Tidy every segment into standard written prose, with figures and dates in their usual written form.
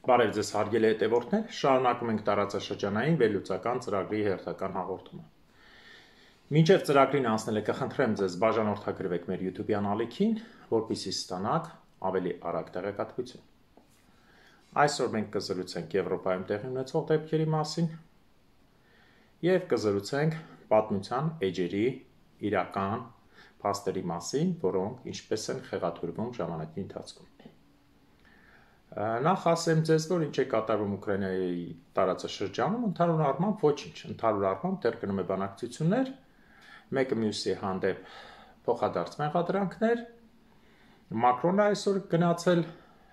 Բարև ձեզ հարգելի հետևորդներ, շարունակում ենք տարածաշրջանային վերլուծական ծրագրի հերթական հաղորդումը։ Մինչև ծրագրին անցնելը կխնդրեմ ձեզ բաժանորդագրվեք մեր YouTube-յան ալիքին, որպեսզի ստանաք ավելի արագ տեղեկատվություն։ Այսօր մենք կզրուցենք Եվրոպայում տեղի ունեցող դեպքերի մասին եւ կզրուցենք պատմության էջերի իրական փաստերի մասին, որոնք ինչպես են խեղաթյուրվում ժամանակի ընթացքում։ Նախ ասեմ ձեզ, որ ինչ է կատարվում Ուկրաինայի տարածաշրջանում, ընդհանուր առմամբ ոչինչ, ընդհանուր առմամբ դեռ գնում է բանակցություններ, մեկը մյուսի հանդեպ փոխադարձ մեղադրանքներ։ Մակրոնը այսօր գնացել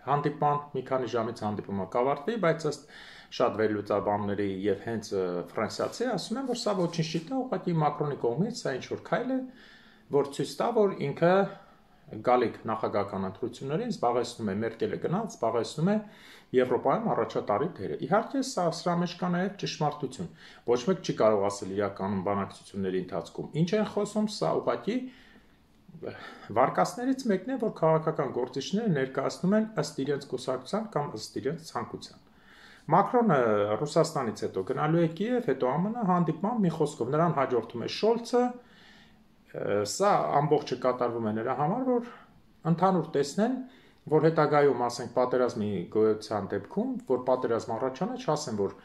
հանդիպման, մի քանի ժամից հանդիպումը կավարտվի, բայց ըստ շատ վերլուծաբանների եւ հենց ֆրանսիացի ասում են, որ սա ոչինչ չի տա, ուղղակի Մակրոնի կողմից սա ինչ-որ քայլ է, որ ցույց տա, որ ինքը գալիք նախագահական ընտրություններին զբաղեցնում է Մերկելը գնաց, զբաղեցնում է Եվրոպայում առաջատարի դերը։ Իհարկե, սրա մեջ կա նաև ճշմարտություն։ Ոչ մեկ չի կարող ասել իրականում բանակցությունների ընթացքում։ Ինչ են խոսում, սա ուղղակի վարկածներից մեկն է, որ քաղաքական գործիչները ներկայացնում են ըստ իրենց կուսակցության կամ ըստ իրենց ցանկության։ Մակրոնը Ռուսաստանից հետո գնալու է Կիև, հետո ԱՄՆ հանդիպման, մի խոսքով նրան հաջորդում է Շոլցը։ Սա ամբողջը կատարվում է նրա համար, որ ընդհանուր տեսնեն, որ հետագայում, ասենք, պատերազմի գոյության դեպքում, որ պատերազմ առաջանա, չասեն, որ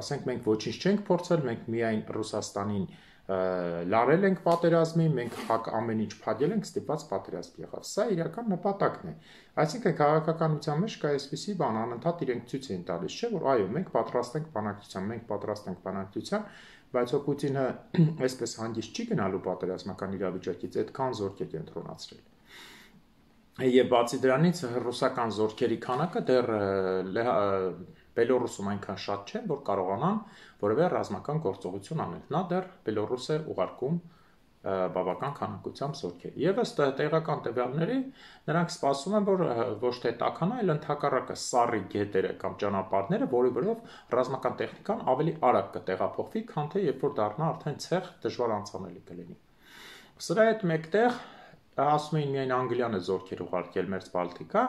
ասենք մենք ոչինչ չենք փորձել, մենք միայն Ռուսաստանին լարել ենք պատերազմի, մենք ամեն ինչ փակել ենք, ստիպված պատերազմ եղավ։ Սա իրական նպատակն է։ Այսինքն քաղաքականության մեջ կա այսպիսի բան, անընդհատ իրենք ցույց են տալիս, չէ՞ որ այո, մենք պատրաստ ենք բանակցության, մենք պատրաստ ենք բանակցության, բայց Պուտինը այսպես հանգիստ չի գնալու պատերազմական իրավիճակից, այդքան զորք է կենտրոնացրել։ Եվ բացի դրանից ռուսական զորքերի քանակը դեռ Բելոռուսում այնքան շատ չէ, որ կարողանան որևէ ռազմական գործողություն անել։ Նա դեռ Բելոռուս է ուղարկում բավական քանակությամբ զորքեր։ Եվ ըստ տեղական տվյալների նրանք սպասում են, որ ոչ թե տաքանա, այլ ընդհակառակը սառի գետերը կամ ճանապարհները, որի վրով ռազմական տեխնիկան ավելի արագ կտեղափոխվի, քան թե երբ որ դառնա արդեն ցեղ դժվար անցանելի կլինի։ Սրա հետ մեկտեղ ասում էին միայն Անգլիան է զորքեր ուղարկել մերձ Բալտիկա,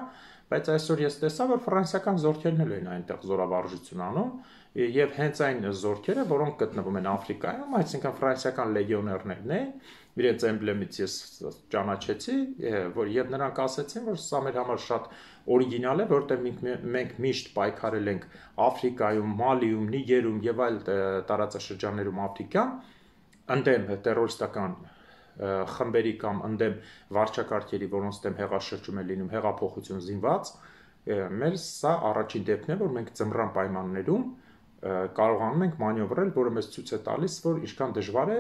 բայց այսօր ես տեսա, որ ֆրանսիական զորքերն էլ են այնտեղ զորավարժություն անում, եւ հենց այն զորքերը, որոնք գտնվում են Աֆրիկայում, այսինքն ֆրանսիական լեգիոներներն են, իրենց էմբլեմից ես ճանաչեցի, որ եւ նրանք ասացին, որ սա մեր համար շատ օրիգինալ է, որտեղ մենք միշտ պայքարել ենք Աֆրիկայում, Մալիում, Նիգերում եւ այլ տարածաշրջաններում Աֆրիկան, ընդդեմ տերորիստական խմբերի կամ ընդդեմ վարչակարգերի, որոնց դեմ հեղաշրջում է լինում, հեղափոխություն զինված, մեր սա առաջին դեպքն է, որ մենք ձմռան պայմաններում կարողանում ենք մանևրել, որը մեզ ցույց է տալիս, որ ինչքան դժվար է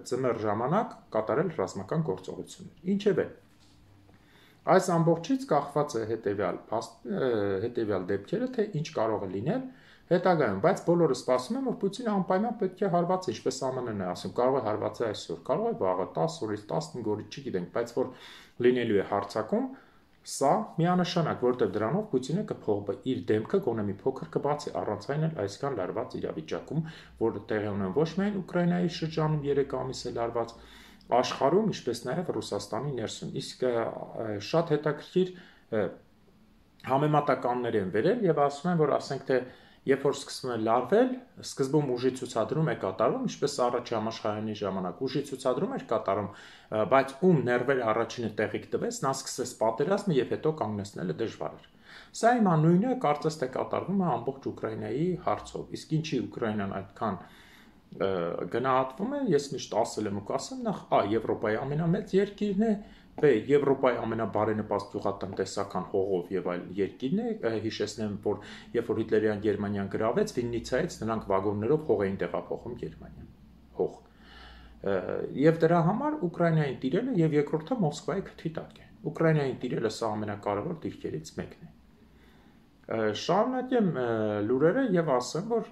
ձմեռ ժամանակ կատարել ռազմական գործողություններ։ Ինչևէ, այս ամբողջից կախված է հետևյալ դեպքերը, թե ինչ կարող է լինել հետագայում, բայց բոլորը սպասում են, որ Պուտինը անպայման պետք է հարվածի, ինչպես ԱՄՆ-ն է ասում, կարող է հարվածի այսօր, կարող է վաղը 10 օրից 15 օրից չգիտենք, բայց որ լինելու է հարձակում, սա միանշանակ, որտեղ դրանով Պուտինը կփոխի իր դեմքը գոնե մի փոքր կբացի, առանց այն էլ այսքան լարված իրավիճակում, որը տեղի ունեն ոչ միայն Ուկրաինայի շրջանում 3 ամիս է լարված, աշխարհում, ինչպես նաև Ռուսաստանի ներսում։ Իսկ շատ հետաքրքիր համեմատականներ են վերել եւ ասում են, որ ասենք թե երբ որ սկսվում է լարվել, սկզբում ուժի ցուցադրում է կատարվում, ինչպես առաջի համաշխարհային ժամանակ ուժի ցուցադրում էր կատարում, բայց ում ներվերը առաջինը տեղիք տվեց, նա սկսեց պատերազմը եւ հետո կանգնեցնելը դժվար էր։ Սա հիմա նույնը կարծես թե կատարվում է ամբողջ Ուկրաինայի հարցով։ Իսկ ինչի Ուկրաինան այդքան գնահատվում է, ես միշտ ասել եմ ու կասեմ, նախ Եվրոպայի ամենամեծ երկիրն է, B. Եվրոպայի ամենաբարենպաստ գյուղատնտեսական հողով եւ այլ երկիրն է, հիշեցնեմ, որ երբ որ Հիտլերյան Գերմանիան գրավեց, Վիննիցայից նրանք վագոններով հող էին տեղափոխում Գերմանիան, հող։ Եվ դրա համար Ուկրաինային տիրելը եւ երկրորդը Մոսկվայի քթի տակ է։ Ուկրաինային տիրելը սա ամենակարևոր դիրքերից մեկն է։ Շարունակեմ լուրերը եւ ասեմ, որ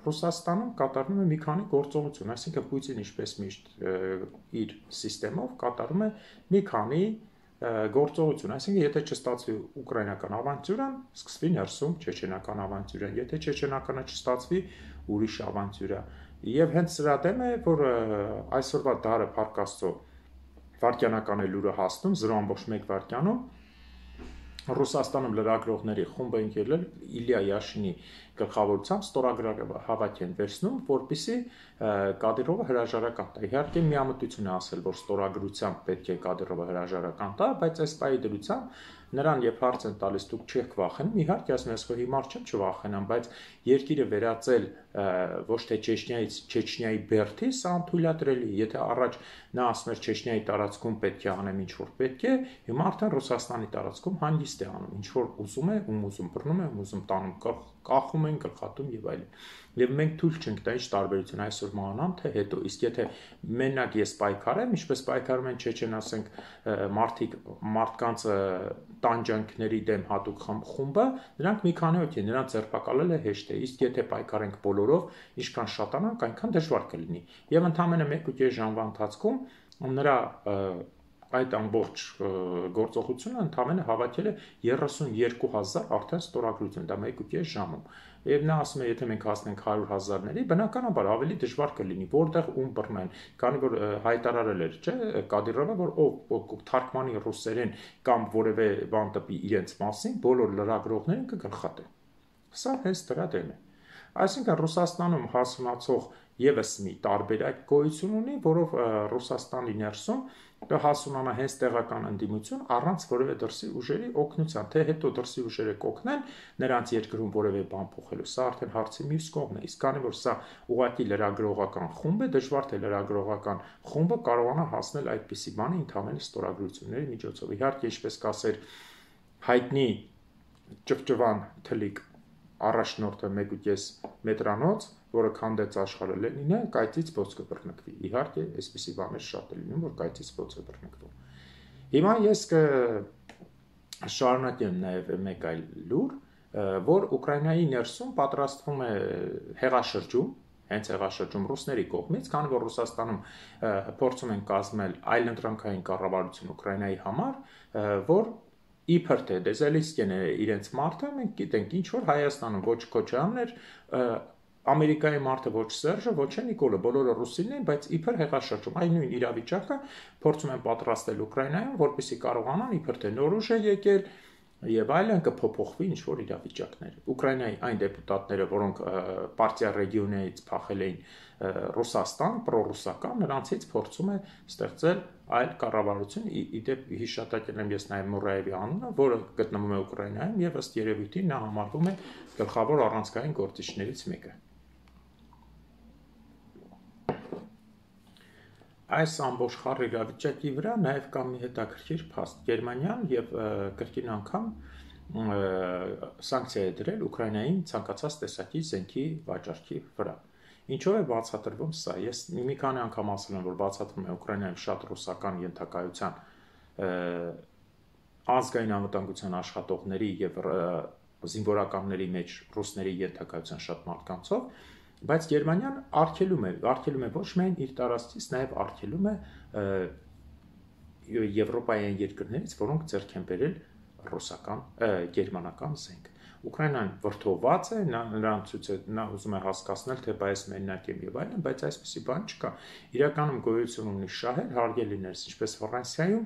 Ռուսաստանում կատարվում է մի քանի գործողություն, այսինքն Պուտինն ինչպես միշտ իր համակարգով կատարում է մի քանի գործողություն, այսինքն եթե չստացվի ուկրաինական ավանտյուրան, սկսվի ներսում չեչենական ավանտյուրան, եթե չեչենականը չստացվի, ուրիշ ավանտյուրա։ Եվ հենց սրա դեմ է, որ այսօրվա դարը Փառք Աստծո վարկյանական է լուրը հասնում 0.1 վարկյանում Ռուսաստանում լրագրողների խումբ են ելել Իլիա Յաշինի գլխավորությամբ ստորագրական հավաք են վերցնում, որպեսզի Կադիրովը հրաժարական տա։ Իհարկե միամտություն է ասել, որ ստորագրությամբ պետք է Կադիրովը հրաժարական տա, բայց այս պահի դրությամբ նրան երբ հարց են տալիս դուք չեք վախենում, իհարկե ասում ես, որ հիմար չեմ չվախենամ, բայց երկիրը վերածել ոչ թե Չեչնիայից Չեչնիայի բերդի, սա անթույլատրելի։ Եթե առաջ նա ասում էր Չեչնիայի տարածքում պետք է անեմ ինչ որ պետք է, հիմա արդեն Ռուսաստանի տարածքում հանգիստ է անում, ինչ որ ուզում է, ուզում բռնում է, ուզում տանում կախում են, գլխատում եւ այլն։ Եվ մենք թույլ չենք տա ինչ տարբերություն այսօր մանամ, թե հետո, իսկ եթե մենակ ես պայքարեմ, ինչպես պայքարում են Չեչեն, ասենք, մարդկանց տանջանքների դեմ հատուկ խումբը, նրանք մի քանի հոգի, նրանց ձերբակալել է հեշտ է, իսկ եթե պայքարենք բոլորով, ինչքան շատանանք, այնքան դժվար կլինի։ Եվ ընդամենը 1.5 ժամվա ընթացքում նրա այդ ամբողջ գործողությունը ընդամենը հավաքել է 32,000 արդեն ստորագրություն, դա 1.5 ժամում։ Եվ նա ասում է, եթե մենք հասնենք 100,000-ների, բնականաբար ավելի դժվար կլինի, որտեղ ում բռնեն, քանի որ հայտարարել էր, չէ, Կադիրովը, որ ով թարգմանի ռուսերեն կամ որևէ բան տպի իրենց մասին, բոլոր լրագրողներին կգլխատեն։ Սա հենց դրա դեմ է։ Այսինքն Ռուսաստանում հասունացող եւս մի տարբերակ գոյություն ունի, որով Ռուսաստանի ներսում կհասունանա հենց տեղական ընդդիմություն առանց որևէ դրսի ուժերի օգնության, թե հետո դրսի ուժերը կօգնեն նրանց երկրում որևէ բան փոխելու, սա արդեն հարցի մյուս կողմն է, իսկ քանի որ սա ուղղակի լրագրողական խումբ է, դժվար թե լրագրողական խումբը կարողանա հասնել այդպիսի բանի ընդհանուր ստորագրությունների միջոցով։ Իհարկե, ինչպես կասեր հայտնի ճվճվան թլիկ առաջնորդը 1.5 մետրանոց, որը քանդեց աշխարհը Լենինը, կայծից ոնց կբռնկվի։ Իհարկե, այսպիսի բաներ շատ է լինում, որ կայծից ոնց է բռնկվում։ Հիմա ես կշարունակեմ նաև մեկ այլ լուր, որ Ուկրաինայի ներսում պատրաստվում է հեղաշրջում, հենց հեղաշրջում ռուսների կողմից, քանի որ Ռուսաստանում փորձում են կազմել այլընտրանքային կառավարություն Ուկրաինայի համար, որ իբր թե Դեզելինսկին է իրենց մարդը, մենք գիտենք ինչ որ Հայաստանում ոչ Քոչարյանն էր, Ամերիկայի մարդը ոչ Սերժը, ոչ Նիկոլը, բոլորը ռուսինն են, բայց իբր հեղաշրջում, այն նույն իրավիճակը փորձում են պատրաստել Ուկրաինայում, որպեսզի կարողանան իբր թե նոր ուժ է եկել եւ այլն կփոփոխվի ինչ որ իրավիճակներ։ Ուկրաինայի այն դեպուտատները, որոնք պարտիա ռեգիոնից փախել էին Ռուսաստան, պրոռուսական, նրանցից փորձում է ստեղծել այլ կառավարություն, իդեպ հիշատակել եմ ես նաև Մուրաևի անունը, որը գտնվում է Ուկրաինայում եւ ըստ երևույթի նա համարվում է գլխավոր առանցքային գործիչներից մեկը։ Այս ամբողջ խառը իրավիճակի վրա նաև կա մի հետաքրքիր փաստ։ Գերմանիան եւ կրկին անգամ սանկցիա է դրել Ուկրաինային ցանկացած տեսակի զենքի վաճառքի վրա։ Ինչով է բացատրվում սա։ Ես մի քանի անգամ ասել եմ, որ բացատրում է Ուկրաինայում շատ ռուսական ենթակայության ազգային անվտանգության աշխատողների եւ զինվորականների մեջ ռուսների ենթակայության շատ մարդկանցով, բայց Գերմանիան արգելում է ոչ միայն իր տարածքից, նաև արգելում է եվրոպայական երկրներից, որոնք ձեռք են բերել ռուսական, գերմանական զենք։ Ուկրաինան վրդովված է, նա ուզում է հասկացնել, թե բայց մենակ եմ եւ այլն, բայց այսպեսի բան չկա։ Իրականում գոյություն ունի շահեր, հարգելիներս, ինչպես Ֆրանսիայում,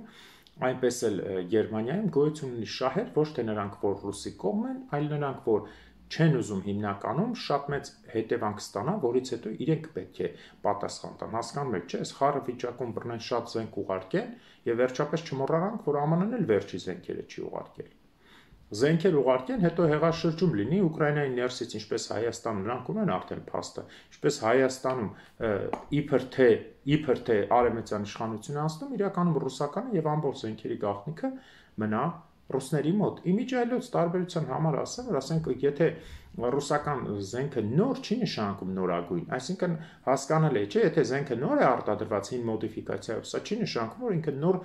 այնպես էլ Գերմանիայում գոյություն ունի շահեր, ոչ թե նրանք, որ ռուսի կողմ են, այլ նրանք, որ չեն ուզում հիմնականում շատ մեծ հետևանք ստանան, որից հետո իրենք պետք է պատասխան տան։ Հասկանում եք, չէ՞, այս խառը վիճակում բռնեն շատ զենք ուղարկեն եւ վերջապես չմոռանանք, որ ԱՄՆ-ն էլ վերջի զենքերը չի ուղարկել։ Զենքեր ուղարկեն, հետո հեղաշրջում լինի Ուկրաինայի ներսից, ինչպես Հայաստանում, նրանք ունեն արդեն փաստը, ինչպես Հայաստանում իբր թե արևմտյան իշխանությունը անցնում, իրականում ռուսականը եւ ամբողջ զենքերի գաղտնիքը մնա ռուսների մոտ։ Իմիջ այլոց տարբերության համար ասեմ, որ ասենք եթե ռուսական զենքը նոր չի նշանակում նորագույն, այսինքն հասկանալի է, չէ, եթե զենքը նոր է արտադրված հին մոդիֆիկացիայով, սա չի նշանակում, որ ինքը նոր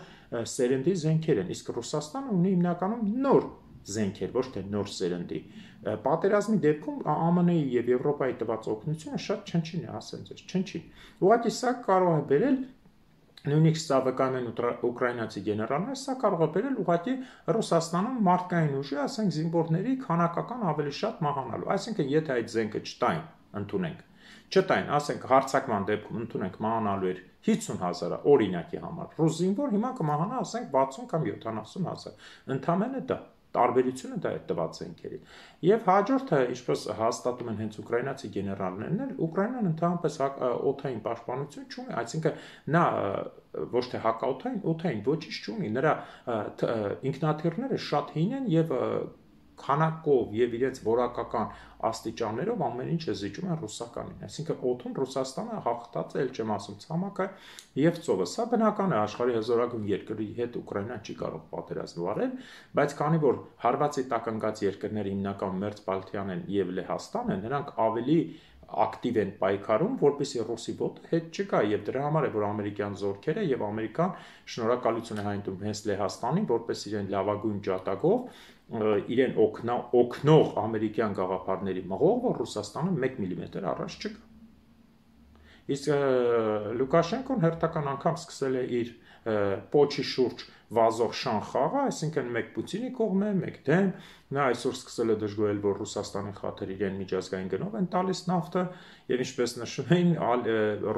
սերնդի զենքեր են, իսկ Ռուսաստանը ունի հիմնականում նոր զենքեր, ոչ թե նոր սերնդի։ Պատերազմի դեպքում ԱՄՆ-ի եւ Եվրոպայի տված օգնությունը շատ չնչին է, ասեմ ձեզ, չնչին։ Ուղղակի սա կարող է բերել նույնիսկ սա վկայում են ուկրաինացի գեներալները, սա կարող է բերել ուղղակի Ռուսաստանում մարդկային ուժի, ասենք զինվորների քանակական ավելի շատ մահանալու։ Այսինքն, եթե այդ զենքը չտային, ընդունենք, չտային, ասենք հարցակման դեպքում ընդունենք մահանալու էր 50,000 օրինակի համար, ռուս զինվոր հիմա կմահանա, ասենք 60 կամ 70,000, ընդամենը դա։ Տարբերությունը դա է տված զենքերի։ Եւ հաջորդը, ինչպես հաստատում են հենց ուկրաինացի գեներալներն էլ, Ուկրաինան ընդհանրապես օդային պաշտպանություն չունի, այսինքն նա ոչ թե օդային ոչինչ չունի, նրա ինքնաթիռները շատ հին են եւ քանակով եւ իրենց որակական աստիճաններով ամեն ինչ է զիջում են ռուսականին։ Այսինքն օդում Ռուսաստանը հաղթած է, ել չեմ ասում, ցամաքը եւ ծովը։ Սա բնական է, աշխարհի հզորագույն երկրի հետ Ուկրաինան չի կարող պատերազմ վարել, բայց քանի որ հարվածի տակ ընկած երկրները հիմնական Մերձբալթիան են եւ Լեհաստանը, նրանք ավելի ակտիվ են պայքարում, որպեսզի ռուսի ոտը հետ չգա եւ դրա համար է որ ամերիկյան զորքերը եւ Ամերիկան շնորհակալություն է հայտնում հենց Լեհաստանին, որպես իրեն լավագույն ջատագով իրեն օգնող ամերիկյան գաղափարների մղող, որ Ռուսաստանը 1 մմ առաջ չգա։ Իսկ Լուկաշենկոն հերթական անգամ սկսել է իր պոչի շուրջ վազող շան խաղը, այսինքն մեկ Պուտինի կողմը, մեկ դեմ, նա այսօր սկսել է դժգոհել, որ Ռուսաստանի խաթր իրեն միջազգային գնով են տալիս նավթը, եւ ինչպես նշում էին,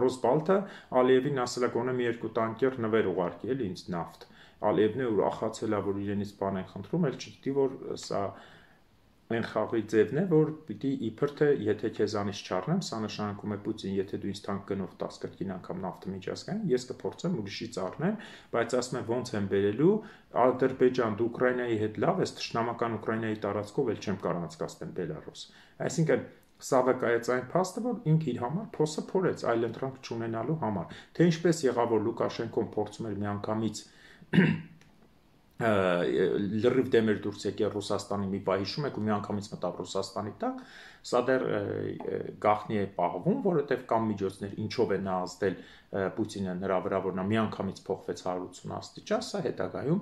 Ռոսբալտը Ալիևին ասել է գոնե մի երկու տանկեր նվեր ուղարկի էլի ինձ նավթ։ Ալիևն է ուրախացել է, որ իրենից բան են խնդրում, էլ չգիտի, որ սա այն խաղի ձևն է, որ պիտի իբր թե եթե քեզանից չառնեմ, սա նշանակում է Պուտին, եթե դու ինձ տանկ գնով 10 կրկին անգամ նավթը միջազգային, ես կփորձեմ ուրիշից առնեմ, բայց ասում եմ ոնց եմ բերելու, Ադրբեջան դու Ուկրաինայի հետ լավ ես, թշնամական Ուկրաինայի տարածքով էլ չեմ կարող անցկացնել Բելարուս։ Այսինքն սա վկայեց այն փաստը, որ ինքը իր համար փոսը փորեց այլ ընտրանք չունենալու համար, թե ինչպես եղավ, որ Լուկաշենկոն փորձում էր միանգամից լրիվ դեմ էր դուրս եկել Ռուսաստանի մի պահ հիշում եք ու միանգամից մտավ Ռուսաստանի տակ, սա դեռ գաղտնի է պահվում, որովհետև կան միջոցներ, ինչով է նա ազդել Պուտինը նրա վրա, որ նա միանգամից փոխվեց 180 աստիճան, սա հետագայում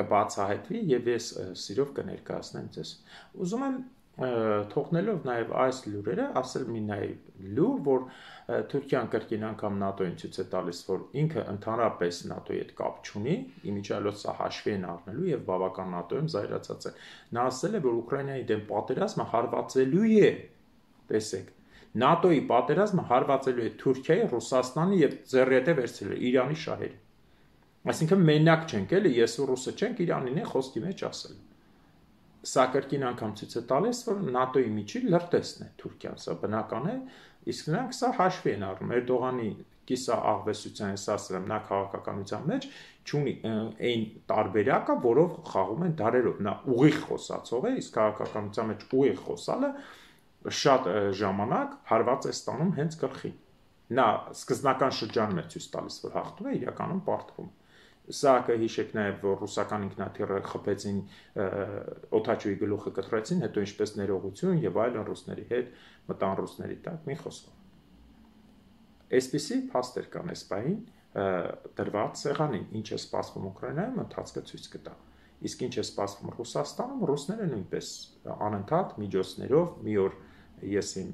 կբացահայտվի եւ ես սիրով կներկայացնեմ ձեզ։ Ուզում եմ թողնելով նաև այս լուրերը, ասել մի նաև լուր, որ Թուրքիան կրկին անգամ ՆԱՏՕ-ին ցույց է տալիս, որ ինքը ընդհանրապես ՆԱՏՕ-ի հետ կապ չունի, իմիջիալոց սա հաշվի են առնելու եւ բավական ՆԱՏՕ-ում զայրացած է։ Նա ասել է, որ Ուկրաինայի դեմ պատերազմը հարվածելու է, տեսեք, ՆԱՏՕ-ի պատերազմը հարվածելու է Թուրքիայի, Ռուսաստանի եւ ձեռիետե վերցրել Իրանի շահերի։ Այսինքն մենակ չենք էլի, ես ու ռուսը չենք, Իրանին է խոսքի մեջ ասել։ Սա կրկին անգամ ցույց է տալիս, որ ՆԱՏՕ-ի միջի լրտեսն է Թուրքիան, սա բնական է, իսկ նրանք սա հաշվի են առնում։ Էրդողանի կիսա աղվեսության ես ասել եմ, նա քաղաքականության մեջ չունի այն տարբերակը, որով խաղում են դարերով։ Նա ուղիղ խոսացող է, իսկ քաղաքականության մեջ ուղիղ խոսալը շատ ժամանակ հարված է ստանում հենց գլխին։ Նա սկզբնական շրջանում է ցույց տալիս, որ հաղթում է, իրականում պարտվում։ Սա կհիշեք նաև, որ ռուսական ինքնաթիռը խփեցին օդաչուի գլուխը կտրեցին, հետո ինչպես ներողություն եւ այլն ռուսների հետ մտան ռուսների տակ, մի խոսքով։ Այսպիսի փաստեր կան այս պահին դրված սեղանին, ինչ է սպասվում Ուկրաինայում, ընթացքը ցույց կտա։ Իսկ ինչ է սպասվում Ռուսաստանում, ռուսները նույնպես անընդհատ միջոցներով մի օր ես իմ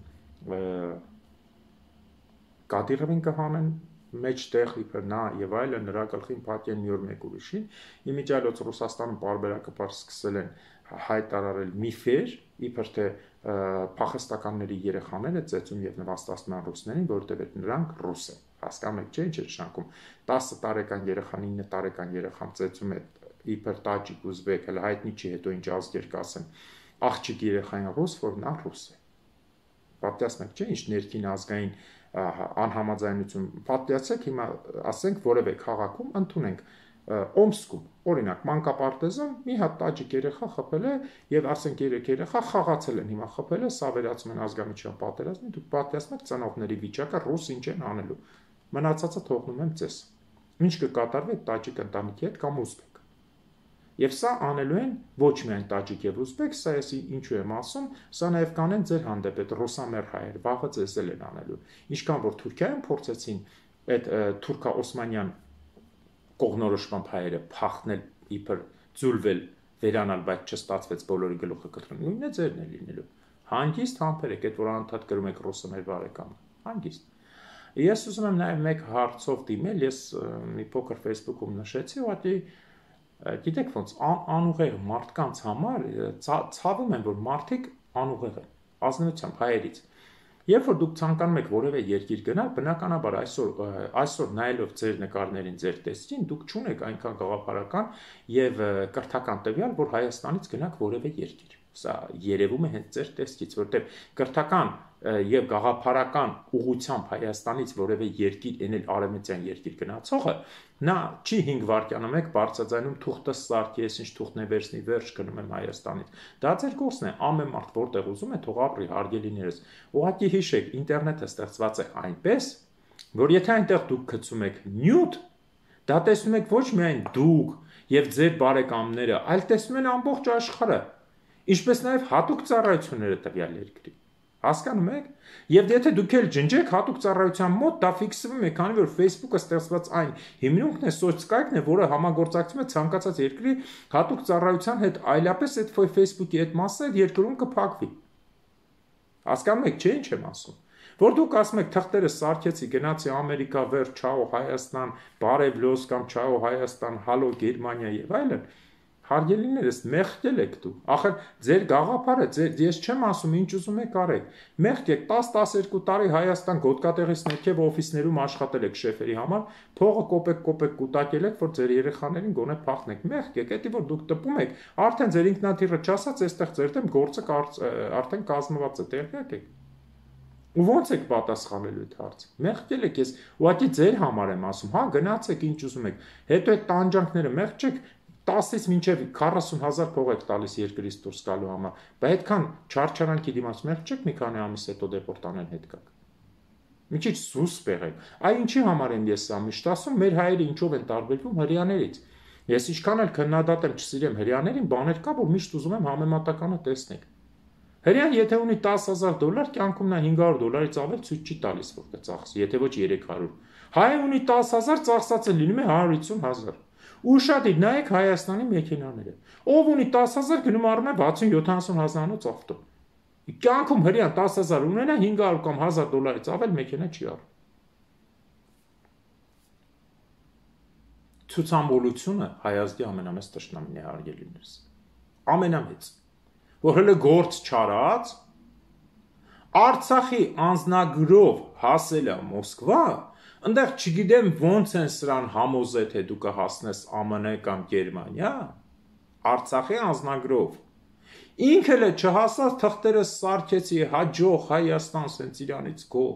Կադիրովին կհանեն մեջտեղ իբր նա եւ այլը նրա գլխին փակեն մի օր մեկ ուրիշին, իմիջիալոց Ռուսաստանում բարբերակապար սկսել են հայտարարել միֆեր, իբր թե փախստականների երեխաները ծեծում եւ նվաստացնում են ռուսներին, որովհետեւ նրանք ռուս են։ Հասկանում եք, չէ՞, ինչ է նշանակում 10 տարեկան երեխան 9 տարեկան երեխան ծեծում է իբր տաջիկ ուզբեկ, հələ հայտնի չի, հետո ինչ ազգեր կասեն։ Աղջիկ երեխային ռուս, որ նա ռուս է։ Պատկերացնեք, չէ՞, ինչ ներքին ազգային անհամաձայնություն, պատկերացեք հիմա ասենք որևէ քաղաքում ընդունենք Օմսկում, օրինակ մանկապարտեզում մի հատ տաջիկ երեխա խփել է եւ ասենք 3 երեխա խաղացել են, հիմա խփել է, սա վերածում են ազգամիջյան պատերազմի, դուք պատկերացնեք ծնողների վիճակը, ռուս ինչ են անելու։ Մնացածը թողնում եմ ձեզ։ Ինչ կկատարվի տաջիկ ընտանիքի հետ կամ ուզբեկ։ Եվ սա անելու են ոչ միայն տաջիկ եւ ուզբեկ, սա էսի ինչու եմ ասում, սա նաեւ կանեն ձեր հանդեպ այդ ռուսամեր հայեր, վաղը ձեզ էլ են անելու։ Ինչքան որ Թուրքիայում փորձեցին այդ թուրքա-օսմանյան կողմնորոշման հայերը փախնել իբր ձուլվել վերանալ, բայց չստացվեց բոլորի գլուխը կտրում։ Նույնն է ձերն է լինելու։ Հանգիստ համբերեք, այդ որ անընդհատ գրում եք ռուսը մեր բարեկամը։ Հանգիստ։ Ես ուզում եմ նաև մեկ հարցով դիմել, ես մի փոքր Facebook-ում նշեցի, ուղղակի գիտեք ոնց անուղեղ մարդկանց համար ցավում եմ, որ մարդիկ անուղեղ են, ազնվությամբ հայերից։ Երբ որ դուք ցանկանում եք որևէ երկիր գնալ, բնականաբար այսօր նայելով ձեր նկարներին, ձեր տեսքին, դուք չունեք այնքան գաղափարական եւ կրթական տվյալ, որ Հայաստանից գնաք որևէ երկիր։ Սա երևում է հենց ձեր տեսքից, որտեղ կրթական եւ գաղափարական ուղղությամբ Հայաստանից որևէ երկիր ենել արևմտյան երկիր գնացողը, նա չի 5 վայրկյանում եք բարձրաձայնում թուղթը սարքի, ես ինչ թուղթն է վերցնի, վերջ գնում եմ Հայաստանից։ Դա ձեր գործն է, ամեն մարդ որտեղ ուզում է թող ապրի, հարգելիներս։ Ուղղակի հիշեք, ինտերնետը ստեղծված է այնպես, որ եթե այնտեղ դուք գցում եք նյութ, դա տեսնում եք ոչ միայն դուք եւ ձեր բարեկամները, այլ տեսնում են ամբողջ աշխարհը, ինչպես նաեւ հատուկ ծառայությունները տվյալ երկրի։ Հասկանում եք։ Եվ եթե դուք էլ ջնջեք հատուկ ծառայության մոտ, դա ֆիքսվում է, քանի որ Facebook-ը ստեղծված այն հիմնունքն է, սոցկայքն է, որը համագործակցում է ցանկացած երկրի հատուկ ծառայության հետ, այլապես այդ Facebook-ի այդ մասը երկրում կփակվի։ Հասկանում եք, չէ՞ ինչ եմ ասում։ Որ դուք ասում եք թղթերը սարքեցի, գնացի Ամերիկա, վեր, չաո Հայաստան, բարև լոս կամ չաո Հայաստան, հալո Գերմանիա եւ այլն, հարգելիներս, մեղքել եք դու։ Ախր ձեր գաղափարը, ես չեմ ասում ինչ ուզում եք արեք։ Մեղք եք 10-12 տարի Հայաստան գոտկատեղից ներքև օֆիսներում աշխատել եք շեֆերի համար, փողը կոպեկ կուտակել եք, որ ձեր երեխաներին գոնե փախնեք։ Մեղք եք, դա որ դուք տպում եք, արդեն ձեր ինքնաթիռը չասած, այստեղ ձեր դեմ գործը արդեն կազմված է, տեղյակ եք։ Ու ո՞նց եք պատասխանելու այդ հարցը։ Մեղքել եք, ես ուղղակի ձեր համար եմ ասում, հա գնացեք ինչ ուզում եք։ Հետո այդ տանջանքները մեղք չեք 10-ից մինչև 40,000 փող եք տալիս երկրից դուրս գալու համար, բայց այդքան չարչարանքի դիմաց մեղք չեք մի քանի ամիս հետո դեպորտանեն հետ գաք։ Մի քիչ սուսպ եղեք։ Այ ինչի համար եմ ես սա միշտ ասում, մեր հայերը ինչով են տարբերվում հрьяաներից։ Ես ինչքան էլ քննադատեմ չսիրեմ հрьяաներին, բաներ կա, որ միշտ ուզում եմ համեմատականը տեսնեք։ Հрьяան եթե ունի $10,000, կյանքում նա $500-ից ավել ցույց չի տալիս, որ կծախսի, եթե ոչ 300։ Հայը ունի 10,000, ծախսած է լինում է 150,000։ Ուշադիր նայեք Հայաստանի մեքենաները։ Ով ունի 10,000 գնում առնում է 60-70,000-անոց ավտո։ Կյանքում հрьяան 10,000 ունենա 500 կամ $1,000-ից ավել մեքենա չի առնում։ Ցուցամոլությունը հայազգի ամենամեծ տշնամին է հարգելիներս։ Ամենամեծ։ Որ հələ գործ չարած Արցախի անձնագրով հասել է Մոսկվա, այնտեղ չգիտեմ ոնց են սրան համոզել, թե դու կհասնես ԱՄՆ կամ Գերմանիա, Արցախի անձնագրով։ Ինքը էլ չհասած թղթերը սարքեցի, հաջող Հայաստան սենց իրանից գո։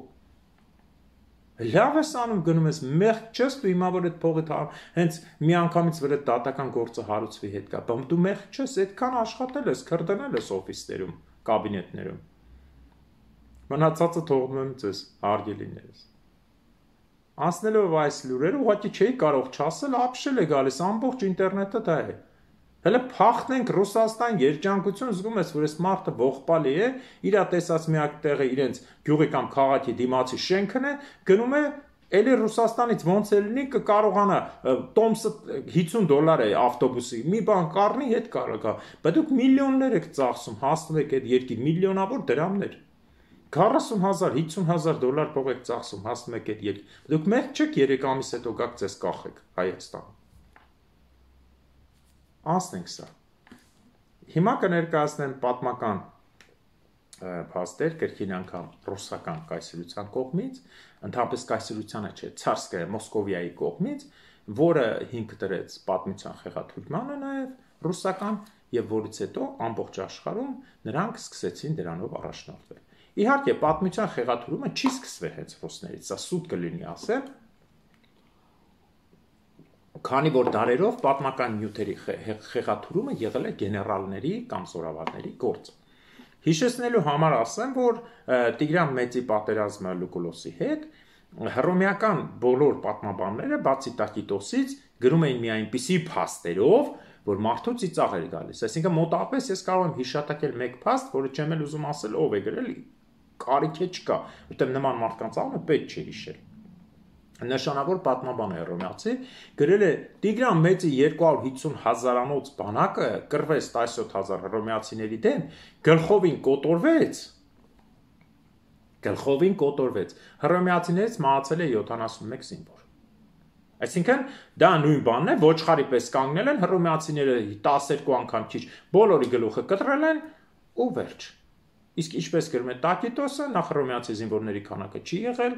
Լավ ես անում գնում ես, մեղք չես դու հիմա որ այդ փողը հենց մի անգամից վրա դատական գործը հարուցվի հետ կա, բայց դու մեղք չես, այդքան աշխատել ես, քրդնել ես օֆիսներում, կաբինետներում։ Մնացածը թողնում եմ ձեզ, հարգելիներս։ Անցնելով այս լուրերը, ուղղակի չէի կարող չասել, ապշել է գալիս, ամբողջ ինտերնետը դա է։ Հələ փախնենք Ռուսաստան երջանկություն, զգում ես, որ այս մարդը ողբալի է, իրա տեսած միակ տեղը իրենց գյուղի կամ քաղաքի դիմացի շենքն է, գնում է էլի Ռուսաստանից ոնց է լինի կկարողանա տոմսը $50 է ավտոբուսի, մի բան կառնի հետ կարողա, բայց դուք միլիոններ եք ծախսում, հասնում եք այդ երկիր, միլիոնավոր դրամներ, 40,000, $50,000 փող եք ծախսում, հասնում եք այդ երկիր, դուք մեղք չեք 3 ամիս հետո գաք ձեզ կախեք Հայաստան։ Անցնենք սա։ Հիմա կներկայացնեմ պատմական փաստեր, կրկին անգամ ռուսական կայսրության կողմից, ընդհանրապես կայսրությանը չէ, Ցարսկայա Մոսկովիայի կողմից, որը հիմք դրեց պատմության խեղաթյուրմանը նաև ռուսական եւ որից հետո ամբողջ աշխարհում նրանք սկսեցին դրանով առաջնորդվել։ Իհարկե, պատմության խեղաթյուրումը չի սկսվել հենց ռուսներից, սա սուտ կլինի ասել, քանի որ դարերով պատմական նյութերի խեղաթյուրումը եղել է գեներալների կամ զորավարների գործը։ Հիշեցնելու համար ասեմ, որ Տիգրան Մեծի պատերազմը Լուկուլոսի հետ հռոմեական բոլոր պատմաբանները, բացի Տակիտոսից, գրում էին մի այնպիսի փաստերով, որ մարդու ծիծաղ էր գալիս։ Այսինքն մոտավորապես ես կարող եմ հիշատակել մեկ փաստ, որը չեմ էլ ուզում ասել ով է գրել, կարիք է չկա, որտեղ նման մարդկանց անունը պետք չէ հիշել։ նշանավոր պատմաբան է հռոմեացի, գրել է Տիգրան Մեծի 250 հազարանոց բանակը կռվեց 17,000 հռոմեացիների դեմ, գլխովին կոտորվեց, հռոմեացիներից մահացել է 71 զինվոր։ Այսինքն դա նույն բանն է, ոչխարի պես կանգնել են, հռոմեացիները 12 անգամ քիչ բոլորի գլուխը կտրել են ու վերջ։ Իսկ ինչպես գրում է Տակիտոսը, նախ հռոմեացի զինվորների քանակը չի եղել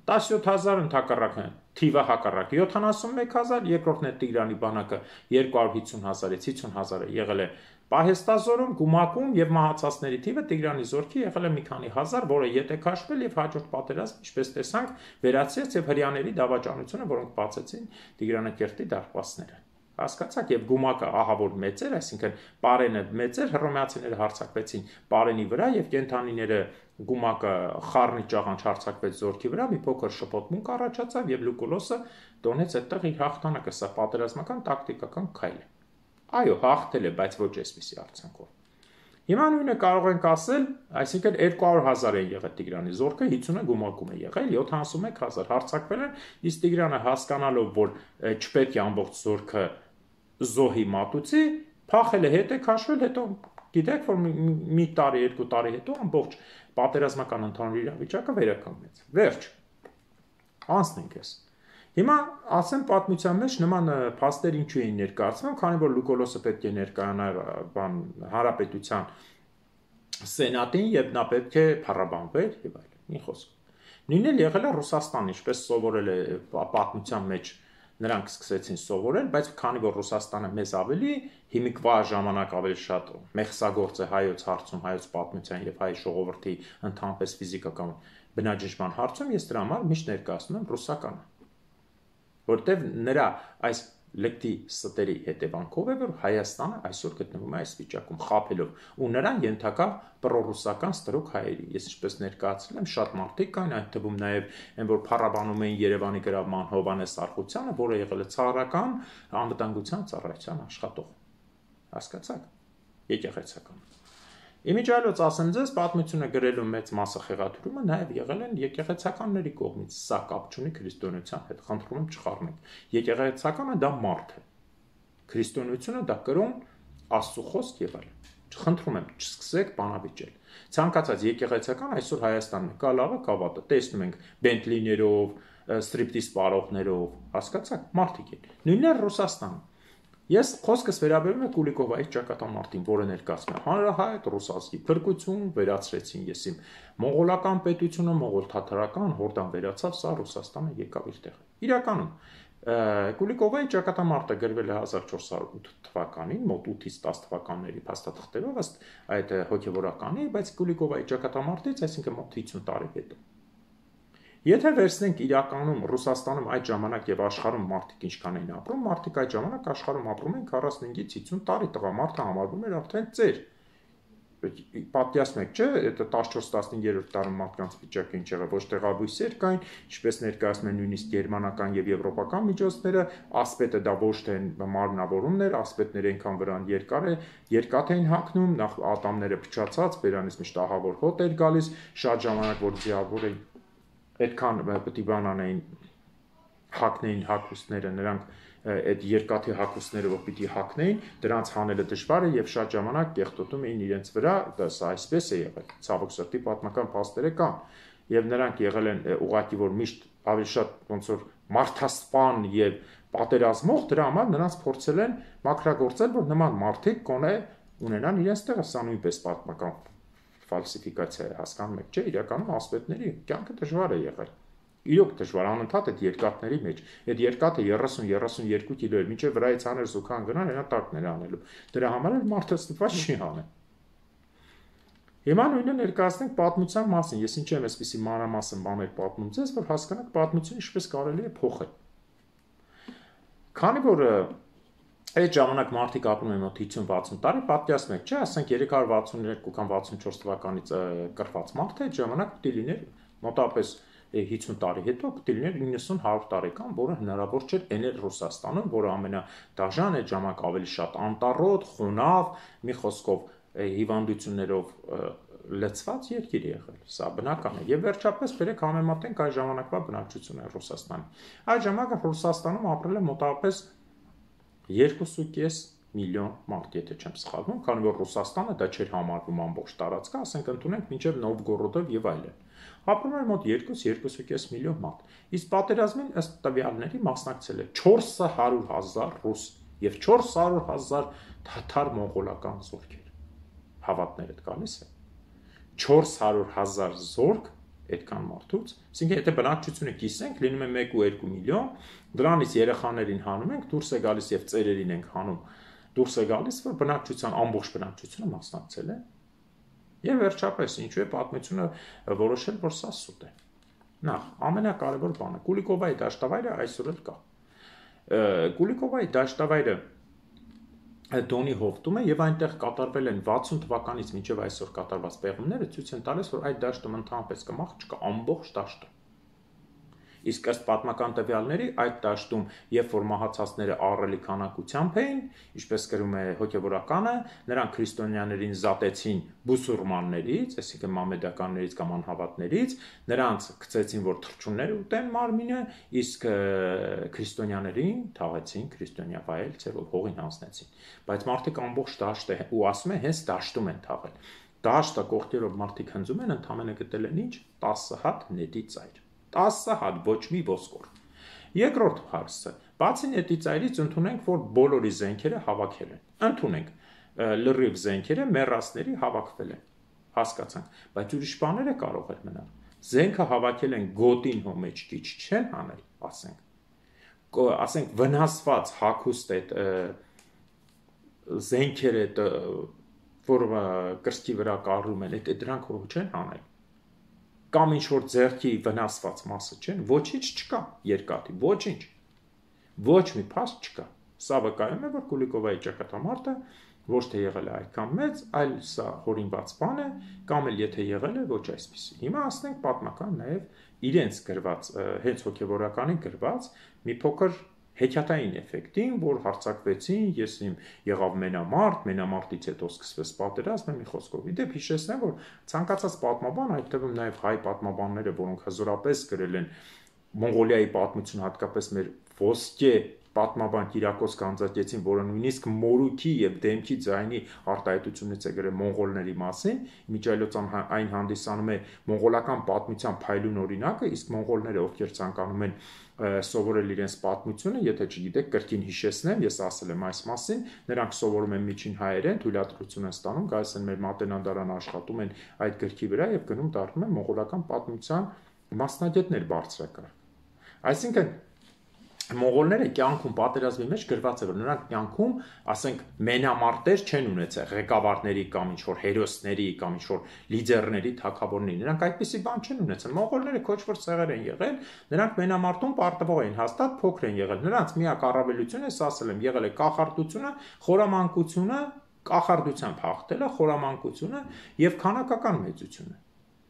17,000 ընդհակառակն թիվը հակառակ 71,000, երկրորդն է Տիգրանի բանակը 250,000-ից 50,000-ը եղել է պահեստազորում, գումակում եւ մահացածների թիվը Տիգրանի զորքի եղել է մի քանի հազար, որը ետ է քաշվել եւ հաջորդ պատերազմ, ինչպես տեսանք, վերացրեց եւ հрьяաների դավաճանությունը, որոնք բացեցին Տիգրանակերտի դարպասները։ Հասկացաք, եւ գումակը ահավոր մեծ էր, այսինքն Պարենը մեծ էր, հռոմեացիները հարձակվեցին Պարենի վրա եւ կենթանիները գումակը խառնի ճաղանչ հարձակվեց զորքի վրա, մի փոքր շփոթմունք առաջացավ եւ Լուկուլոսը տոնեց այդտեղ իր հաղթանակը, սա պատերազմական տակտիկական քայլ է։ Այո, հաղթել է, բայց ոչ այսպիսի արձանքով։ Հիմա նույնը կարող ենք ասել, այսինքն 200,000 են եղել Տիգրանի զորքը, 50-ը գումակում է եղել, 71,000 հարձակվել են, իսկ Տիգրանը հասկանալով, որ չպետք է ամբողջ զորքը զոհի մատուցի, փախել է, հետ է քաշվել, հետո գիտեք, որ մի տարի, 2 տարի հետո ամբողջ պատերազմական ընդհանուր իրավիճակը վերականգնեց։ Վերջ։ Անցնենք ես։ Հիմա ասեմ պատմության մեջ նման փաստեր ինչու էին ներկայացվում, քանի որ Լուկոլոսը պետք է ներկայանար հանրապետության սենատին եւ նա պետք է փառաբանվեր եւ այլն։ Մի խոսք։ Նույնն էլ եղել է Ռուսաստան, ինչպես սովորել է պատմության մեջ նրանք սկսեցին սովորել, բայց քանի որ Ռուսաստանը մեզ ավելի հիմիկվա ժամանակ ավելի շատ մեղսագործ է հայոց հարցում, հայոց պատմության եւ հայ ժողովրդի ընդհանրապես ֆիզիկական բնաջնջման հարցում, ես դրա համար միշտ ներկայացնում եմ ռուսականը, որտեվ նրա այս լեկտի ստերի հետևանքով է, որ Հայաստանը այսօր գտնվում է այս վիճակում խաբելով ու նրան ենթակա պրոռուսական ստրուկ հայերի։ Ես ինչպես ներկայացրել եմ, շատ մարդիկ կային, այդ թվում նաև այն, որ փառաբանում էին Երևանի գրավման Հովհաննես Արխունյանը, որը եղել է ցարական անվտանգության ծառայության աշխատող։ Հասկացաք։ Եկեղեցական։ Իմիջիայլոց ասեմ ձեզ, պատմությունը գրելու մեծ մասը խեղաթյուրումը նաև եղել են եկեղեցականների կողմից, սա կապ չունի քրիստոնեության հետ, խնդրում եմ չխառնեք։ Եկեղեցականը դա մարդ է, քրիստոնեությունը դա կրոն, Աստծո խոսք եւ այլն։ Խնդրում եմ, չսկսեք բանավիճել։ Ցանկացած եկեղեցական այսօր Հայաստանում կա լավը կավատը, տեսնում ենք Բենտլիներով, ստրիպտիզ պարողներով, հասկացաք, մարդիկ են։ Նույնն է Ռուսաստանում։ Ես խոսքս վերաբերում է Կուլիկովայի ճակատամարտին, որը ներկայացնում է հանրահայտ ռուսացի փրկություն, վերացրեցին ես իմ մոնղոլական պետությունը, մոնղոլ-թաթարական, հորդան վերացավ, սա Ռուսաստանը եկավ իր տեղը։ Իրականում Կուլիկովայի ճակատամարտը գրվել է 1408 թվականին, մոտ 8-ից 10 թվականների փաստաթղթերով, ըստ այդ հոգևորականի, բայց Կուլիկովայի ճակատամարտից, այսինքն մոտ 50 տարի հետո։ Եթե վերցնենք իրականում Ռուսաստանում այդ ժամանակ եւ աշխարհում մարդիկ ինչքան էին ապրում, մարդիկ այդ ժամանակ աշխարհում ապրում են 45-ից 50 տարի, տղամարդը համարվում էր արդեն ծեր։ Պատկերացնում եք, չէ՞, այդ 14-15-րդ դարում մարդկանց վիճակը ինչ եղավ, ոչ տեղաբույսեր կային, ինչպես ներկայացնում են նույնիսկ գերմանական եւ եվրոպական միջոցները, ասպետը դա ոչ թե մարմնավորումներ, ասպետները այնքան վրան երկաթ էին հագնում, նախ ատամները փչացած, բերանից միշտ ահավոր հոտ էր գալիս, շատ ժամանակ որ ձիավոր էին այդքան պետք է բանանային հակնեին հակուստները, նրանք այդ երկաթի հակուստները որ պիտի հակնեին, դրանց հանելը դժվար է եւ շատ ժամանակ կեղտոտում էին իրենց վրա, դա այսպես է եղել։ Ցավոք սրտի պատմական փաստերը կան եւ նրանք եղել են ուղղակի որ միշտ ավելի շատ ոնց որ մարդասպան եւ պատերազմող, դրա համար նրանց փորձել են մաքրագործել, որ նման մարդիկ կոնե ունենան իրենց տեղը, սա նույնպես պատմական ֆալսիֆիկացիա է, հասկանում եք, չէ, իրականում ասպետների կյանքը դժվար է եղել։ Իրոք դժվար անընդհատ այդ երկաթների մեջ։ Այդ երկաթը 30-32 կիլո էր, մինչև վրայից աներ զուգան գնան, հենա տակներ անելու։ Դրա համար էլ մարդը ստված չի անել։ Հիմա նույնը ներկայացնենք պատմության մասին։ Ես ինչ եմ այսպեսի մանրամասն բաներ պատմում ձեզ, որ հասկանաք պատմությունը ինչպես կարելի է փոխել։ Քանի որ այդ ժամանակ մարդիկ ապրում են մոտ 50-60 տարի, պատկերացնում եք, չէ, ասենք 362 կամ 64 թվականից կրված մարդը այդ ժամանակ պիտի լիներ մոտավորապես 50 տարի հետո պիտի լիներ 90-100 տարեկան, որը հնարավոր չէր էնել Ռուսաստանում, որը ամենադաժան այդ ժամանակ ավելի շատ անտառոտ, խոնավ, մի խոսքով հիվանդություններով լցված երկիր եղել, սա բնական է։ Եվ վերջապես բերեք համեմատենք այդ ժամանակվա բնակչությունը Ռուսաստանի։ Այդ ժամանակ Ռուսաստանում ապրել է մոտավորապես 2.5 միլիոն մարդ, եթե չեմ սխալվում, քանի որ Ռուսաստանը դա չէր համարվում ամբողջ տարածքը, ասենք ընդունենք մինչև Նովգորոդով եւ այլն։ Ապրում էր մոտ 2-2.5 միլիոն մարդ։ Իսկ պատերազմին ըստ տվյալների մասնակցել է 400,000 ռուս եւ 400,000 թաթար մոնղոլական զորքեր։ Հավատներդ գալիս է 400,000 զորք այդքան մարդուց, այսինքն եթե բնակչությունը կիսենք, լինում է 1.2 միլիոն, դրանից երեխաներին հանում ենք, դուրս է գալիս եւ ծերերին ենք հանում, դուրս է գալիս, որ բնակչության ամբողջ բնակչությունը մասնակցել է։ Եվ վերջապես, ինչու է պատմությունը որոշել, որ սա սուտ է։ Նախ, ամենակարևոր բանը, Կուլիկովայի դաշտավայրը այսօր էլ կա։ Կուլիկովայի դաշտավայրը Դոնի հովտում է եւ այնտեղ կատարվել են 60 թվականից մինչեւ այսօր կատարված պեղումները ցույց են տալիս, որ այդ դաշտում ընդհանրապես կմախ չկա ամբողջ դաշտը։ Իսկ ըստ պատմական տվյալների այդ դաշտում, երբ որ մահացածները ահռելի քանակությամբ էին, ինչպես գրում է հոգևորականը, նրանք քրիստոնյաներին զատեցին բուսուրմաններից, այսինքն մամեդականներից կամ անհավատներից, նրանց գցեցին, որ թռչուններ ուտեն մարմինը, իսկ քրիստոնյաներին թաղեցին քրիստոնյա վայել ցերով հողին հանձնեցին։ Բայց մարդիկ ամբողջ դաշտը ու ասում են հենց դաշտում են թաղել։ Դաշտը կողքերով մարդիկ հնձում են, ընդամենը գտել են ինչ 10 հատ նետի ծայր։ 10 հատ, ոչ մի ոսկոր։ Երկրորդ հարցը, բացի նետի ծայրից ընդունենք, որ բոլորի զենքերը հավաքել են։ Ընդունենք, լրիվ զենքերը մեռածների հավաքվել են։ Հասկացանք, բայց ուրիշ բաները կարող են մնալ։ Զենքը հավաքել են գոտին հո մեջ քիչ չեն հանել, ասենք վնասված հագուստ այդ զենքերը, որ կրծքի վրա կառում են, դրանք հո չեն հանել։ Կամ ինչ-որ ձեռքի վնասված մասը չեն, ոչինչ չկա երկաթի, ոչինչ, ոչ մի փաստ չկա։ Սա վկայում է, որ Կուլիկովայի ճակատամարտը ոչ թե եղել է այդքան մեծ, այլ սա հորինված բան է, կամ էլ եթե եղել է, ոչ այսպիսի։ Հիմա ասենք պատմական նաև իրենց գրված, հենց հոգևորականին գրված մի փոքր հեքիաթային էֆեկտին, որ հարձակվեցին, ես իմ եղավ մենամարտից հետո սկսվեց պատերազմը, մի խոսքով։ Իդեպ հիշեցնեմ, որ ցանկացած պատմաբան, այդ թվում նաև հայ պատմաբանները, որոնք հզորապես գրել են Մոնղոլիայի պատմություն, հատկապես մեր ոսկե պատմաբան Կիրակոս Գանձակեցին, որը նույնիսկ մորուքի եւ դեմքի ձայնի արտահայտությունից է գրել մոնղոլների մասին, միջայլոցան այն հանդիսանում է մոնղոլական պատմության փայլուն օրինակը, իսկ մոնղոլները, ովքեր ցանկանում են սովորել իրենց պատմությունը, եթե չգիտեք, կրկին հիշեցնեմ, ես ասել եմ այս մասին, նրանք սովորում են միջին հայերեն, թույլատրություն են ստանում, գալիս են մեր մատենադարանը աշխատում են այդ գրքի վրա եւ գնում դառնում են մոնղոլական պատմության մասնագետներ բարձրակարգ։ Այսինքն մոնղոլները կյանքում պատերազմի մեջ գրված է, որ նրանք կյանքում, ասենք, մենամարտեր չեն ունեցել ղեկավարների կամ ինչ-որ հերոսների կամ ինչ-որ լիդերների, թագավորների, նրանք այդպիսի բան չեն ունեցել։ Մոնղոլները քոչվոր ցեղեր են եղել, նրանք մենամարտում պարտվող էին, հաստատ փոքր են եղել։ Նրանց միակ առավելությունը, ես ասել եմ, եղել է կախարդությունը, խորամանկությունը, կախարդությամբ հաղթելը, խորամանկությունը եւ քանակական մեծությունը։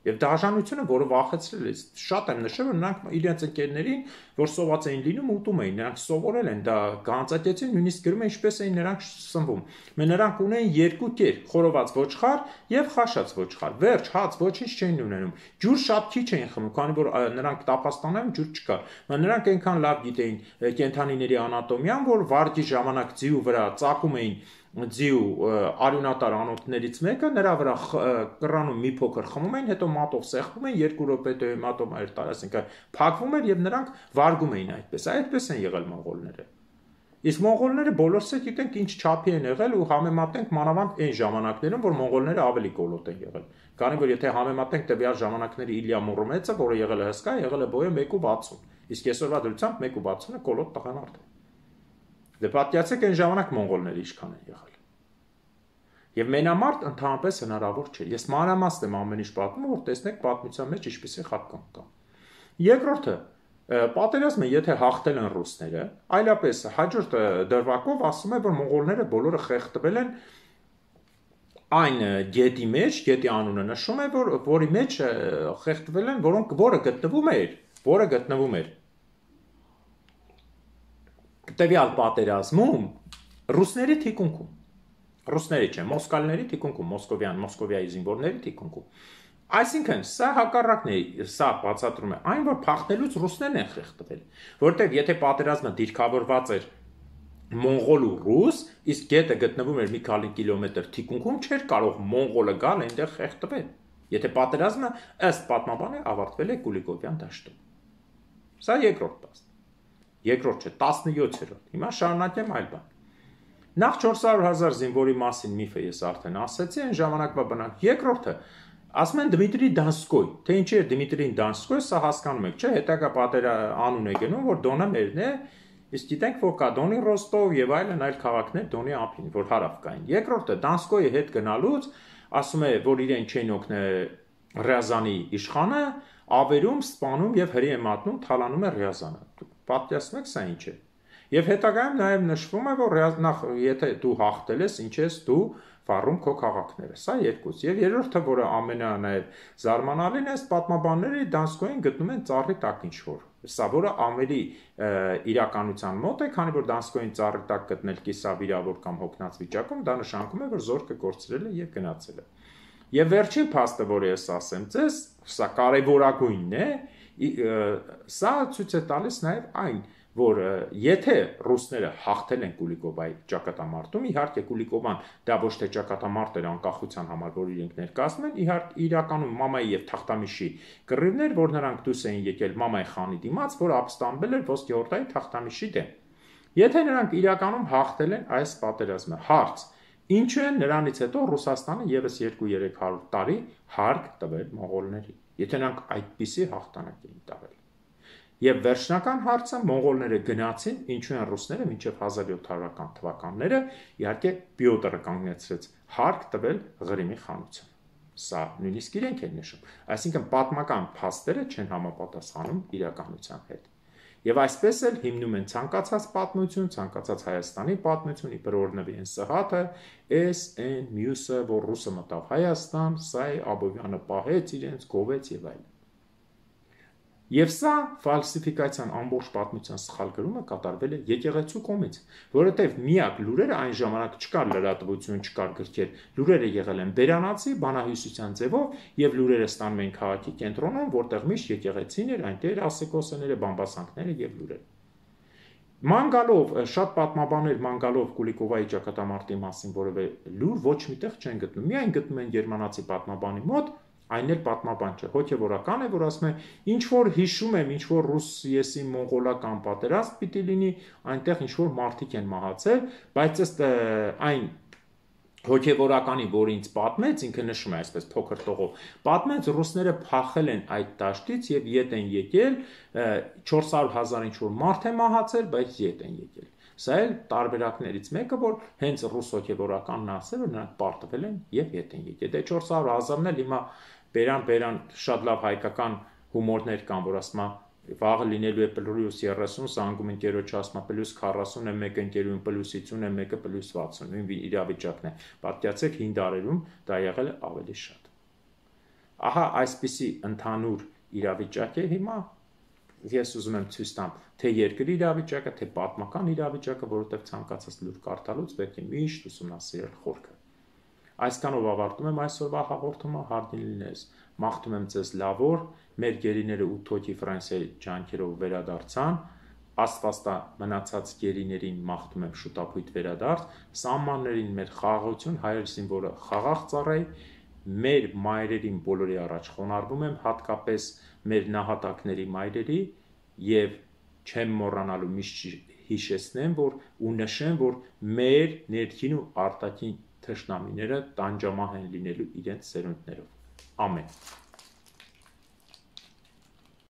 Եվ դաժանությունը, որը վախեցրել է, շատ եմ նշել, որ նրանք իրենց ընկերներին, որ սոված էին լինում, ուտում էին, նրանք սովորել են, դա Գանձակեցին նույնիսկ գրում է ինչպես էին նրանք սնվում։ Նրանք ունեին երկու կեր՝ խորոված ոչխար եւ խաշած ոչխար։ Վերջ, հաց, ոչինչ չէին ունենում։ Ջուր շատ քիչ էին խմում, քանի որ նրանք տափաստանում ջուր չկար։ Նրանք այնքան լավ գիտեին կենդանիների անատոմիան, որ վարգի ժամանակ ձիու վրա ծակում էին ձիու արյունատար անոթներից մեկը, նրա վրա կռանում մի փոքր խմում էին, հետո մատով սեղմում էին, 2 րոպե հետո մատով էր տալիս, այսինքն փակվում էր եւ նրանք վարգում էին այդպես։ Այդպես են եղել մոնղոլները։ Իսկ մոնղոլները բոլորս էլ գիտենք ինչ չափի են եղել ու համեմատենք մանավանդ այն ժամանակներում, որ մոնղոլները ավելի կոլոտ են եղել։ Քանի որ եթե համեմատենք տվյալ ժամանակների Իլիա Մուրոմեցը, որը եղել է հսկա, եղել է բոյը 1.60, իսկ այսօրվա դրությամբ 1.60-ը կոլոտ տղանարդ է։ Դե պատկերացեք այն ժամանակ մոնղոլները ինչքան են եղել։ Եվ մենամարտ ընդհանրապես հնարավոր չէ։ Ես մանրամասն եմ ամեն ինչ պատմում, որ տեսնեք պատմության մեջ ինչպիսի խատկան կա։ Երկրորդը, պատերազմը եթե հաղթել են ռուսները, այլապես հաջորդ դրվագով ասում է, որ մոնղոլները բոլորը խեղդվել են այն գետի մեջ, գետի անունը նշում է, որի մեջ խեղդվել են, որը գտնվում էր տվյալ պատերազմում ռուսների թիկունքում։ Ռուսների չէ, մոսկալների թիկունքում, Մոսկովիայի զինվորների թիկունքում։ Այսինքն, սա հակառակն է, սա բացատրում է այն, որ փախնելուց ռուսներն են խեղդվել, որտեղ եթե պատերազմը դիրքավորված էր մոնղոլ ու ռուս, իսկ գետը գտնվում էր մի քանի կիլոմետր թիկունքում, չէր կարող մոնղոլը գալ այնտեղ խեղդվել։ Եթե պատերազմը ըստ պատմաբանի ավարտվել է Կուլիկովյան դաշտում։ Սա երկրորդ փաստ։ Երկրորդ չէ, 17-րդ։ Հիմա շարունակեմ այլ բան։ Նախ 400,000 զինվորի մասին միֆը ես արդեն ասացի, այն ժամանակվա բնակ։ Երկրորդը ասում են Դմիտրի Դանսկոյ, թե ինչի է Դմիտրին Դանսկոյ, սա հասկանում եք, չէ՞, հետագա անուն է գնում, որ Դոնը մերն է, իսկ գիտենք, որ կա Դոնի Ռոստով եւ այլ քաղաքներ Դոնի ափին, որ հարավ կային։ Երկրորդը Դանսկոյի հետ գնալուց ասում է, որ իրեն չեն օգնել Ռյազանի իշխանը, ավերում, սպանում եւ հրի է մատնում, թալանում է Ռյազանը։ Դուք պատկերացնում եք սա ինչ է։ Եվ հետագայում նաև նշվում է, որ նախ եթե դու հաղթել ես, ինչ ես դու վառում քո քաղաքները։ Սա երկուց։ Եվ երրորդը, որը ամենաներ զարմանալին է, պատմաբանները Դանսկոյին գտնում են ծառի տակ ինչ-որ։ Սա որը ավելի իրականության մոտ է, քանի որ Դանսկոյին ծառի տակ գտնել կիսավիրավոր կամ հոգնած վիճակում, դա նշանակում է, որ զորքը կորցրել է եւ գնացել է։ Եվ վերջին փաստը, որը ես ասեմ ձեզ, սա կարևորագույնն է, սա ցույց է տալիս նաև այն, որ եթե ռուսները հաղթել են Կուլիկովայի ճակատամարտում, իհարկե Կուլիկովան դա ոչ թե ճակատամարտ էր անկախության համար, որ իրենք ներկայացնում են, իհարկե իրականում Մամայի եւ Թախտամիշի կռիվներ, որ նրանք դուրս էին եկել Մամայի խանի դիմաց, որ ապստամբել էր Ոսկեհորդայի Թախտամիշի դեմ։ Եթե նրանք իրականում հաղթել են այս պատերազմը, հարց, ինչու է նրանից հետո Ռուսաստանը եւս 2-300 տարի հարկ տվել մոնղոլների, եթե նրանք այդպիսի հաղթանակ էին տվել։ Եվ վերջնական հարցը մոնղոլները գնացին, ինչու են ռուսները մինչև 1700-ական թվականները իհարկե Պյոտրը կանգնեցրեց հարկ տվել Ղրիմի խանությանը։ Սա նույնիսկ իրենք են նշում։ Այսինքն պատմական փաստերը չեն համապատասխանում իրականության հետ։ Եվ այսպես էլ հիմնում են ցանկացած պատմություն, ցանկացած Հայաստանի պատմություն, իբր օրնվի են Սահաթը, S.N. մյուսը, որ ռուսը մտավ Հայաստան, սա է Աբովյանը պահեց իրենց, գովեց եւ այլն։ Եվ սա ֆալսիֆիկացիան ամբողջ պատմության սխալ գրումը կատարվել է եկեղեցու կողմից, որովհետև միակ լուրերը այն ժամանակ չկար լրատվություն, չկար գրքեր, լուրերը եղել են բերանացի, բանահյուսության ձևով եւ լուրերը ստանում են քաղաքի կենտրոնում, որտեղ միշտ եկեղեցին էր, այնտեղ ասեկոսները, բամբասանքները եւ լուրերը։ Մանգալով շատ պատմաբաններ Մանգալով Կուլիկովայի ճակատամարտի մասին որևէ լուր ոչ միտեղ չեն գտնում։ Միայն գտնում են գերմանացի պատմաբանի մոտ, այն էլ պատմաբան չէ, հոգևորական է, որ ասում է, ինչ որ հիշում եմ, ինչ որ ռուս եսի մոնղոլական պատերազմ պիտի լինի, այնտեղ ինչ որ մարդիկ են մահացել, բայց ըստ այն հոգևորականի, որ ինձ պատմեց, ինքը նշում է այսպես փոքր տողով, պատմեց ռուսները փախել են այդ դաշտից եւ ետ են եկել, 400,000 ինչ որ մարդ է մահացել, բայց ետ են եկել։ Սա էլ տարբերակներից մեկը, որ հենց ռուս հոգևորականն ասել, որ նրանք պարտվել են եւ ետ են եկել։ Դե 400,000-ն էլ հիմա բերան շատ լավ հայկական հումորներ կան, որ ասում է վաղը լինելու է պլյուս 30, զանգում ընկերոջ ասում է պլյուս 40 է, մեկը ընկերուն պլյուս 50 է, մեկը պլյուս 60, նույն իրավիճակն է։ Պատկերացեք 5 դարերում դա եղել է ավելի շատ։ Ահա այսպիսի ընդհանուր իրավիճակ է հիմա։ Ես ուզում եմ ցույց տամ թե երկրի իրավիճակը, թե պատմական իրավիճակը, որովհետև ցանկացած լուր կարդալուց պետք է միշտ ուսումնասիրել խորքը։ Այսքանով ավարտում եմ այսօրվա հաղորդումը, հարգելի լինես, մաղթում եմ ձեզ լավ օր, մեր գերիները 8 հոգի Ֆրանսիայի ջանքերով վերադարձան, Աստվածտա մնացած գերիներին մաղթում եմ շուտապույտ վերադարձ, սահմաններին մեր խաղաղություն, հայր զինվորը խաղաղ ծառայի, մեր մայրերին բոլորի առաջ խոնարհվում եմ, հատկապես մեր նահատակների մայրերի եւ չեմ մոռանալու միշտ հիշեցնեմ, որ ու նշեմ, որ մեր ներքին ու արտաքին թշնամիները տանջամահ են լինելու իրենց սերունդներով։ Ամեն։